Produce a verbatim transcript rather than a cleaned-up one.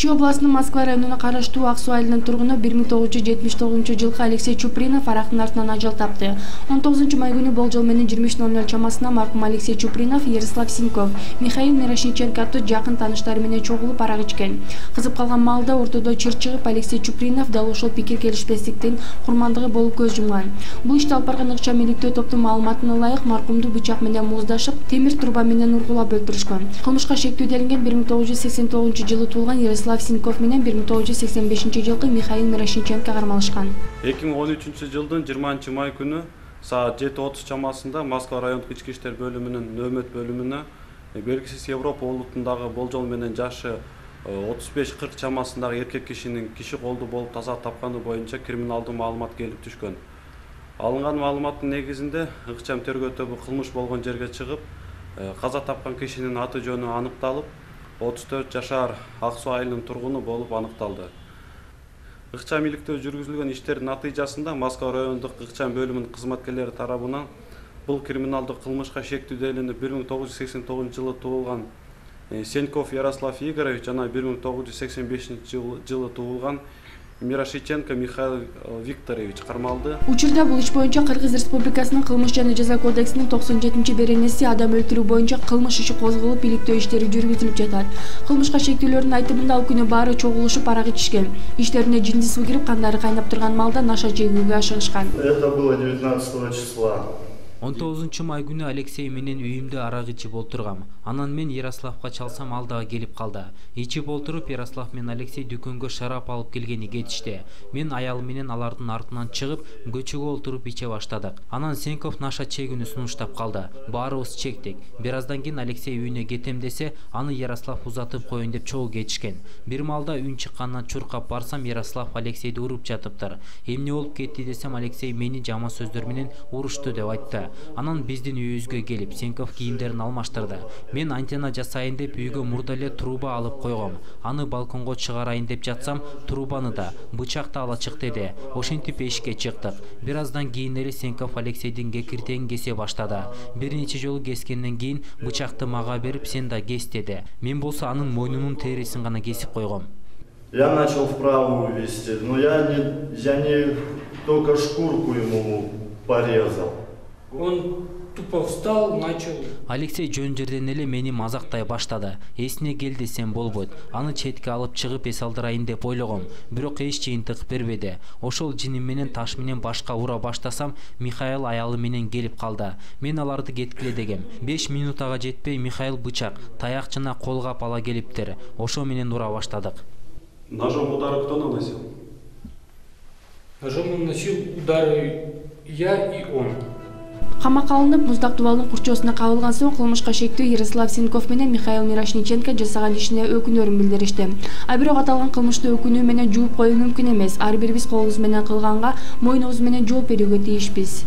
Чүй областынын Москва районуна караштуу Ак Суу айылынын тургуну бир миң тогуз жүз жетимиш тогузунчу жылкы Алексей Чупринов арактын артынан ажал тапты. он тогузунчу май күнү болжол менен жыйырма үч ноль ноль чамасында маркум Алексей Чупринов, Ярослав Синьков, Михаил Мирошниченко аттуу жакын тааныштары менен чогулуп арак ичкен. Кызып калган маалда ортодо чыр чыгып, Алексей Чупринов дал ошол пикир келишпестиктин курмандыгы болуп көз жумган. Бул ишти алып барган ыкчам иликтөө топтун маалыматына ылайык маркумду бычак менен муздашып, темир труба менен ургулап өлтүрүшкөн. Кылмышка шектүү делинген бир миң тогуз жүз сексен тогузунчу жылы туулган Ярослав Синьков менен бир миң тогуз жүз сексен бешинчи жылкы Михаил Мирошниченко кармалышкан. эки миң он үчүнчү жылдын жыйырманчы май күнү саат жети отуз чамасында Москва райондук ички иштер бөлүмүнүн нөөмөт бөлүмүнө белгисиз Европа улутундагы болжол менен жашы отуз беш кырк чамасындагы эркек кишинин киши колду болуп таза тапканы боюнча криминалдуу маалымат келип түшкөн. Алынган маалыматтын негизинде ыкчам тергөө тобу кылмыш болгон жерге чыгып, каза тапкан кишинин аты жөнү аныкталып, отуз төрт жашар Ак Суу айылынын тургуну болуп аныкталды. Ыкчам иликтөө жүргүзүлгөн иштердин натыйжасында Москва райондук ыкчам бөлүмүнүн кызматкерлери тарабынан бул криминалдык кылмышка шектүү делинип бир миң тогуз жүз сексен тогузунчу жылы туулган Сеньков Ярослав Игоревич жана бир миң тогуз жүз сексен бешинчи жылы туулган Мирошниченко Михаил Викторович кармалды. Учурда бул иш боюнча Кыргыз Республикасынын кылмыш жана жаза кодексинин токсон жетинчи беренеси адам өлтүрүү боюнча кылмыш иши козголуп, иликтөө иштери жүргүзүлүп жатат. Кылмышка шектүүлөрдүн айтымында ал күнү баары чогулушуп арак ичишкен. Иштерине жинди суу кирип, кандары кайнап турган маалда наша жегүүгө ашыгышкан. Это было девятнадцатого числа. он тогузунчу май күнү Алексей менен үйүмдө арак ичип олтургам. Анан мен Ярославга чалсам, ал дагы келип калды. Ичип олтуруп, Ярослав менен Алексей дүкөнгө шарап алып келгени кетишти. Мен аялым менен алардын артынан чыгып, көчөгө олтуруп иче баштадык. Анан Сеньков наша чегүүнү сунуштап калды. Баарыбыз чектик. Бир аздан кийин Алексей үйүнө кетем десе, аны Ярослав узатып коеюн деп чогуу кетишкен. Бир маалда үн чыккандан чуркап барсам, Ярослав Алексейди уруп жатыптыр. Эмне болуп кетти десем, Алексей мени жаман сөздөр менен урушту деп айтты. Анан биздин үйүбүзгө келип, Сеньков кийимдерин алмаштырды. Мен антенна жасайын деп үйгө мурда эле труба алып койгом. Аны балконго чыгарайын деп жатсам, трубаны да, бычакты ала чык деди. Ошентип эшикке чыктык. Бир аздан кийин эле Сеньков Алексейдин кекиртегин кесе баштады. Бир нече жолу кескенден кийин бычакты мага берип, сен да кес деди. Мен болсо анын мойнунун терисин гана кесип койгом. Я начал вправо увести, но я не, я не только шкурку ему порезал. Он тупо встал, начал. Алексей жөн жерден эле мени мазактай баштады. Эсине кел десем болбойт. Аны четке алып чыгып эс алдырайын деп ойлогом. Бирок эч жыйынтык бербеди. Ошол жиним менен таш менен башка ура баштасам, Михаил аялы менен келип калды. Мен аларды кеткиле дегем. беш минутага жетпей Михаил бычак, таяк жана колгап ала келиптир. Ошо менен ура баштадык. Ножом удары кто наносил? Ножом наносил удары я и он. Камакка алынып, муздак дубалдын курчоосуна кабылган соң кылмышка шектүү Ярослав Синьков менен Михаил Мирошниченко жасаган ишине өкүнөрүн билдиришти. А бирок аталган кылмышты өкүнүү менен жууп коюу мүмкүн эмес. Ар бирибиз колубуз менен кылганга, мойнубуз менен жооп берүүгө тийишпиз.